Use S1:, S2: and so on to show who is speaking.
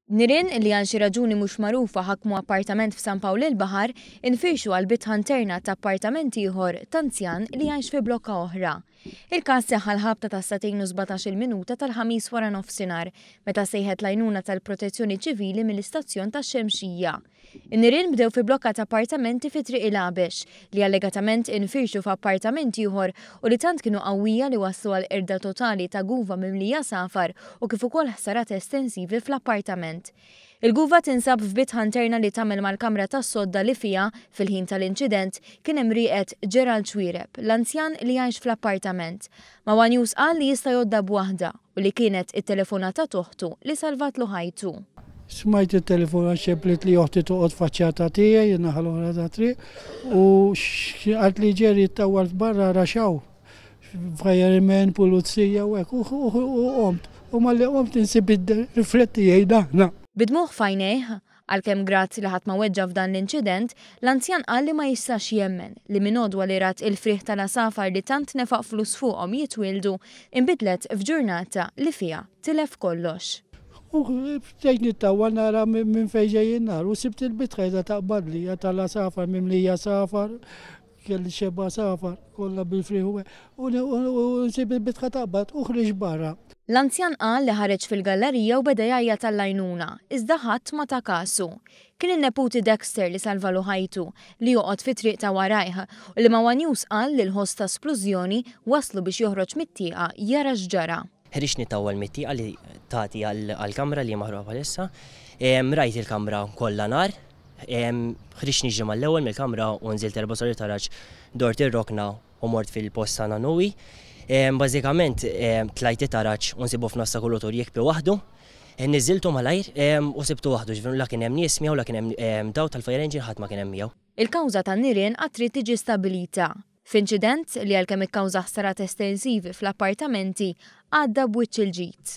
S1: Nirien li għal xi raġuni mhux magħrufa ħakmu appartament f'San Pawl il-Baħar infirxu għal bitħa interna ta' appartament ieħor t'anzjan li jgħix fi blokka oħra. Il-każ seħħ għall-ħabta tas-sagħtejn u 17-il minuta tal-Ħamis waranofsinhar meta sejħet l-għajnuna tal-Protezzjoni Ċivili mill-istazzjon tax-Xemxija. In-nirien bdew fi blokka ta' appartamenti fi Triq il-Għabex, li allegatament infirxu f'appartament ieħor u li tant kienu qawwija li wasslu għal qerda totali ta' guva mimlija għasafar u kif ukoll ħsarat estensivi fl-appartament. Il-guva tinsab f'bitħa interna li tagħmel mal-kamra tas-sodda li fiha, fil-ħin tal-inċident, kien hemm rieqed Gerald Xuereb, l-anzjan li jgħix fl-appartament. Ma' one News qal li jista' jgħoddha b'waħda u li kienet it-telefonata t'oħtu li salvatlu ħajtu.
S2: Smajt it-telefon għax xebblit li oħti toqgħod faċċata tiegħi in-naħa l-oħra tat-triq u qaltli Jerry ittawwalt barra ara x'hawn, firemen, pulizija u hekk u qomt u malli qomt insib id-riflett tiegħi daħna.
S1: Bi dmugħ f'għajnejh, Għalkemm grat li ħadd ma weġġa' f'dan l-inċident, l-anzjan qal li ma jistax jemmen li minn għodwa li rat il-frieħ tal-għasafar li tant nefaq flus fuqhom jitwieldu, inbidlet f'ġurnata li fiha tilef kollox.
S2: U bdejt nittawwal nara minn fejn ġej in-nar u sibt il-bitħa qiegħda taqbadli, tal-għasafar mimlija għasafar, Kelli xebgħa għasafar, kollha bil-frieħ u u nsib il-bitħa taqbad u ħriġt barra.
S1: L-anzjan qal li ħareġ fil-gallarija u beda jgħajjat għall-għajnuna, iżda ħadd ma ta kasu. Kien in-neputi Dexter li salvalu ħajtu, li joqgħod fit-triq ta' warajh, u li ma' one News qal li l-ħoss ta' splużjoni wasslu biex joħroġ mit-tieqa jara x'ġara.
S3: Ħriġt nittawwal mit-tieqa li tagħti għall-kamra li hi maħruqa bħalissa. Rajt il-kamra kollha nar. Ħriġt niġri mal-ewwel mill-kamra u nżilt erba' solari taraġ, dort ir-rokna u mort fil-post ta' Nanui. Bażikament tlajt it-taraġ u nsibu f'nofs ta' kulutur jikbi waħdu. Niżiltu malajr u sibtu waħdu, ġifieri la kien hemm nies miegħu, la kien hemm dawl tal-fire engine, ħadd ma kien hemm miegħu.
S1: Il-kawża tan-nirien għad trid tiġi stabbilita. F'inċident li għalkemm ikkawża ħsarat estensivi fl-appartamenti, għadda b'wiċċ il-ġid.